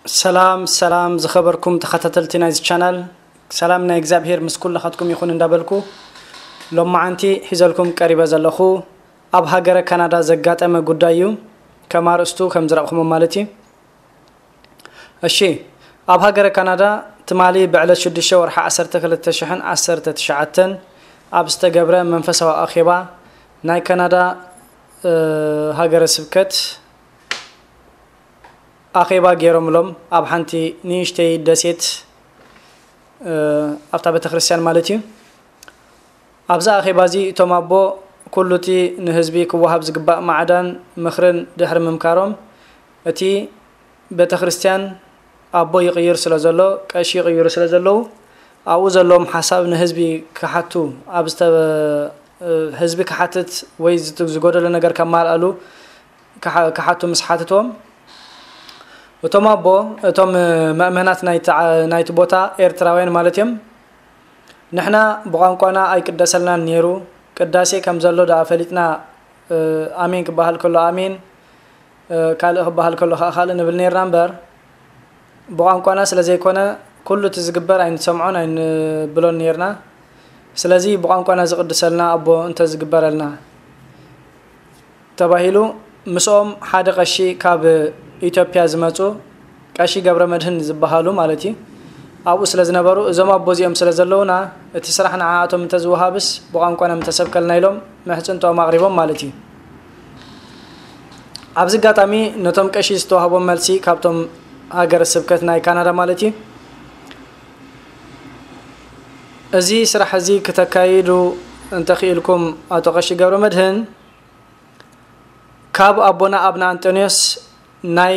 ሰላም ሰላም ዝኸበርኩም ተኸታተልቲ ናይዚ ቻናል፣ ሰላም ናይ እግዚኣብሔር ምስ ኩልኻትኩም ይኹን እንዳበልኩ፣ ሎማዓንቲ ሒዘልኩም ቀሪበ ዘለኹ ኣብ ሃገረ ካናዳ ዘጋጠመ ጉዳይ እዩ። ከም ኣርእስቱ ከም ዝረእኹሞ ማለት እዩ። እሺ፣ ኣብ ሃገረ ካናዳ ትማሊ ብዕለት ሽዱሽተ ወርሒ ዓሰርተ ክልተ ሽሕን ዓሰርተ ትሽዓተን ኣብ ዝተገብረ መንፈሳዊ ኣኼባ ናይ ካናዳ ሃገረ ስብከት ኣኼባ ገይሮምሎም ኣብ ሓንቲ ንእሽተይ ደሴት ኣብታ ቤተክርስትያን ማለት እዩ። ኣብዚ ኣኼባ እዚ እቶም ኣቦ ኩሉ እቲ ንህዝቢ ክወሃብ ዝግባእ ማዕዳን ምኽርን ድሕሪ ምምካሮም፣ እቲ ቤተክርስትያን ኣቦ ይቕይር ስለ ዘሎ፣ ቀሺ ይቕይሩ ስለ ዘለዉ፣ ኣብኡ ዘለዎም ሓሳብ ንህዝቢ ክሓቱ ኣብ ዝተ ህዝቢ ክሓትት ወይ ዝጎደሎ ነገር ከማልኣሉ ክሓቱ ምስ ሓትትዎም፣ እቶም ኣቦ፣ እቶም መእመናት ናይቲ ቦታ ኤርትራውያን ማለት እዮም፣ ንሕና ብቋንቋና ኣይቅደሰልናን ነይሩ፣ ቅዳሴ ከም ዘሎ ደኣ ፈሊጥና፣ ኣሜን ክበሃል ከሎ ኣሜን፣ ካልእ ክበሃል ከሎ ከዓ ካልእ ንብል ነይርና እምበር፣ ብቋንቋና ስለ ዘይኮነ ኩሉ እቲ ዝግበር ኣይንሰምዖን ኣይንብሎን ነይርና። ስለዚ ብቋንቋና ዝቕድሰልና ኣቦ እንተዝግበረልና ተባሂሉ ምስኦም ሓደ ቀሺ ካብ ኢትዮጵያ ዝመፁ ቀሺ ገብረ መድህን ዝበሃሉ ማለት እዩ ኣብኡ ስለ ዝነበሩ እዞም ኣቦ እዚኦም ስለ ዘለውና እቲ ስራሕ ንዓኣቶም እንተዝወሃብስ ብቋንቋና ምተሰብከልና ኢሎም ምሕፅንትኦም ኣቕሪቦም ማለት እዩ። ኣብዚ ኣጋጣሚ ነቶም ቀሺ ዝተዋህቦም መልሲ ካብቶም ሃገረ ስብከት ናይ ካናዳ ማለት እዩ። እዚ ስራሕ እዚ ክተካይዱ እንተኽኢልኩም ኣቶ ቀሺ ገብረ መድህን ካብ ኣቦና ኣብነ ኣንጠንዮስ ናይ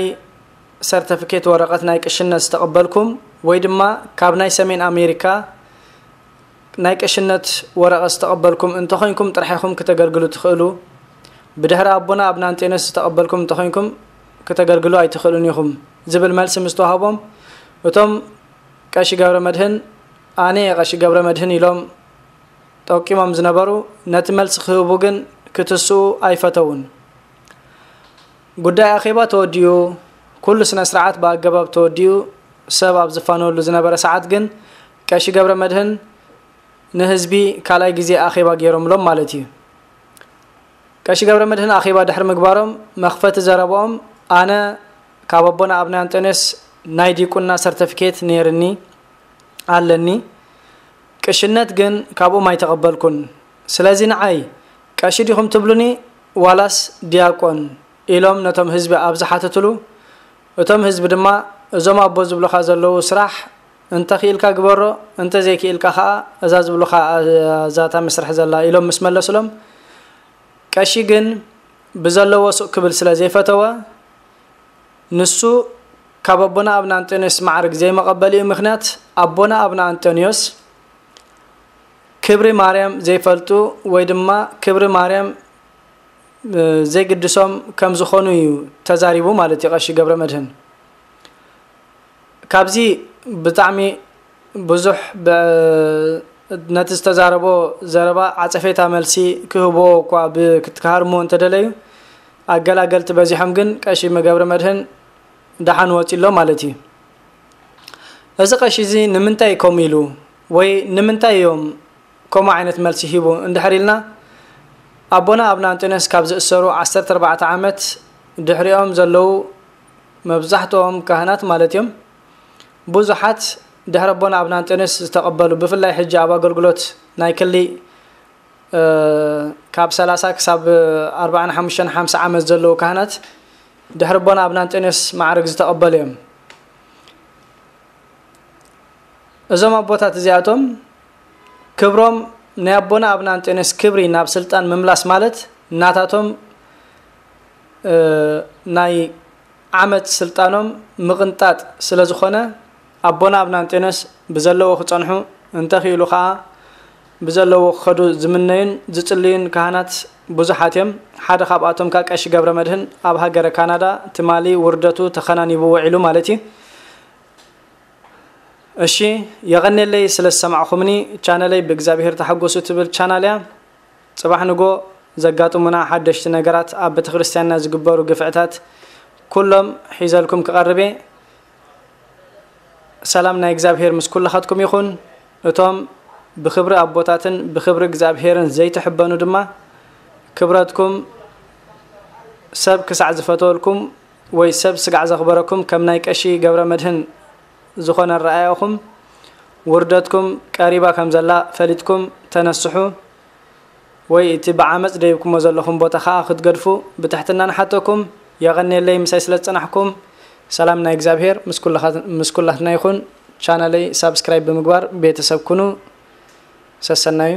ሰርተፍኬት ወረቐት ናይ ቅሽነት ዝተቐበልኩም ወይ ድማ ካብ ናይ ሰሜን ኣሜሪካ ናይ ቀሽነት ወረቐት ዝተቐበልኩም እንተኾይንኩም ጥራሕ ኢኹም ክተገልግሉ ትኽእሉ። ብድሕሪ ኣቦና ኣብነ ኣንጠንዮስ ዝተቐበልኩም እንተኾይንኩም ክተገልግሉ ኣይትኽእሉን ኢኹም ዝብል መልሲ ምስ ተዋህቦም እቶም ቀሺ ገብረ መድህን ኣነ እየ ቀሺ ገብረ መድህን ኢሎም ጠቂሞም ዝነበሩ ነቲ መልሲ ክህቡ ግን ክትስኡ ኣይፈተውን። ጉዳይ ኣኼባ ተወዲኡ ኩሉ ስነ ስርዓት ብኣገባብ ተወዲኡ ሰብ ኣብ ዝፋነወሉ ዝነበረ ሰዓት ግን ቀሺ ገብረ መድህን ንህዝቢ ካልኣይ ግዜ ኣኼባ ገይሮምሎም ማለት እዩ። ቀሺ ገብረ መድህን ኣኼባ ድሕሪ ምግባሮም መኽፈቲ ዘረባኦም ኣነ ካብ ኣቦና ኣብነ ኣንጠንዮስ ናይ ዲቁና ሰርተፍኬት ነይርኒ ኣለኒ፣ ቅሽነት ግን ካብኦም ኣይተቐበልኩን። ስለዚ ንዓይ ቀሺ ዲኹም ትብሉኒ ዋላስ ዲያቆን ኢሎም ነቶም ህዝቢ ኣብ ዝሓተትሉ እቶም ህዝቢ ድማ እዞም ኣቦ ዝብሉኻ ዘለዉ ስራሕ እንተኽኢልካ ግበሮ እንተዘይክኢልካ ኸዓ እዛ ዝብሉኻ እዛ እታ መስርሕ ዘላ ኢሎም ምስ መለስሎም ቀሺ ግን ብዘለዎ ሱቕ ክብል ስለ ዘይፈተወ ንሱ ካብ ኣቦና ኣብነ ኣንጠንዮስ ማዕርግ ዘይመቐበሊኡ ምኽንያት ኣቦና ኣብነ ኣንጠንዮስ ክብሪ ማርያም ዘይፈልጡ ወይ ድማ ክብሪ ማርያም ዘይግድሶም ከም ዝኾኑ እዩ ተዛሪቡ ማለት እዩ ቀሺ ገብረ መድህን። ካብዚ ብጣዕሚ ብዙሕ ነቲ ዝተዛረቦ ዘረባ ዓፀፌታ መልሲ ክህብዎ እኳ ክሃርምዎ እንተደለዩ ኣገላገልቲ በዚሖም ግን ቀሺ ገብረ መድህን ደሓን ወፂ ኣሎ ማለት እዩ። እዚ ቀሺ እዚ ንምንታይ ከምኡ ኢሉ ወይ ንምንታይ እዮም ከምኡ ዓይነት መልሲ ሂቡ እንድሕር ኢልና ኣቦና ኣብነ ኣንጠንዮስ ካብ ዝእሰሩ ዓሰርተ ኣርባዕተ ዓመት ድሕሪኦም ዘለዉ መብዛሕትኦም ካህናት ማለት እዮም ብዙሓት ድሕሪ ኣቦና ኣብነ ኣንጠንዮስ ዝተቐበሉ ብፍላይ ሕጂ ኣብ ኣገልግሎት ናይ ክሊ ካብ ሰላሳ ክሳብ ኣርባዓን ሓሙሽተን ሓምሳ ዓመት ዘለዉ ካህናት ድሕሪ ኣቦና ኣብነ ኣንጠንዮስ ማዕርግ ዝተቐበሉ እዮም። እዞም ኣቦታት እዚኣቶም ክብሮም ናይ ኣቦና ኣብነ ኣንጠንዮስ ክብሪ ናብ ስልጣን ምምላስ ማለት ናታቶም ናይ ዓመት ስልጣኖም ምቕንጣጥ ስለ ዝኾነ ኣቦና ኣብነ ኣንጠንዮስ ብዘለዎ ክጸንሑ እንተኽኢሉ ኸኣ ብዘለዎ ክኸዱ ዝምነዩን ዝጽልዩን ካህናት ብዙሓት እዮም። ሓደ ካብኣቶም ከኣ ቀሺ ገብረ መድህን ኣብ ሃገረ ካናዳ ትማሊ ውርደቱ ተኸናኒቡ ውዒሉ ማለት እዩ። እሺ የቐኔለይ ስለ ዝሰማዕኹምኒ። ቻነለይ ብእግዚኣብሔር ተሓጎሱ ትብል ቻናል እያ። ጽባሕ ንጎ ዘጋጥሙና ሓደሽቲ ነገራት ኣብ ቤተክርስትያንና ዝግበሩ ግፍዕታት ኩሎም ሒዘልኩም ክቐርብ እየ። ሰላም ናይ እግዚኣብሔር ምስ ኩልኻትኩም ይኹን። እቶም ብኽብሪ ኣቦታትን ብኽብሪ እግዚኣብሔርን ዘይትሕበኑ ድማ፣ ክብረትኩም ሰብ ክሳዕ ዝፈተወልኩም ወይ ሰብ ስጋዕ ዘኽበረኩም፣ ከም ናይ ቀሺ ገብረ መድህን ዝኾነ ኣረኣእያኹም፣ ውርደትኩም ቀሪባ ከም ዘላ ፈሊጥኩም ተነስሑ፣ ወይ እቲ ብዓመጽ ደይብኩሞ ዘለኹም ቦታ ኸኣ ክትገድፉ ብትሕትና ንሓተኩም። የቐንየለይ ምሳይ ስለ ዝጸናሕኩም። ሰላም ናይ እግዚኣብሔር ምስ ኩልኻ-፣ ምስ ኩላትና ይኹን። ቻነለይ ሳብስክራይብ ብምግባር ቤተሰብ ኩኑ። ሰሰናዩ።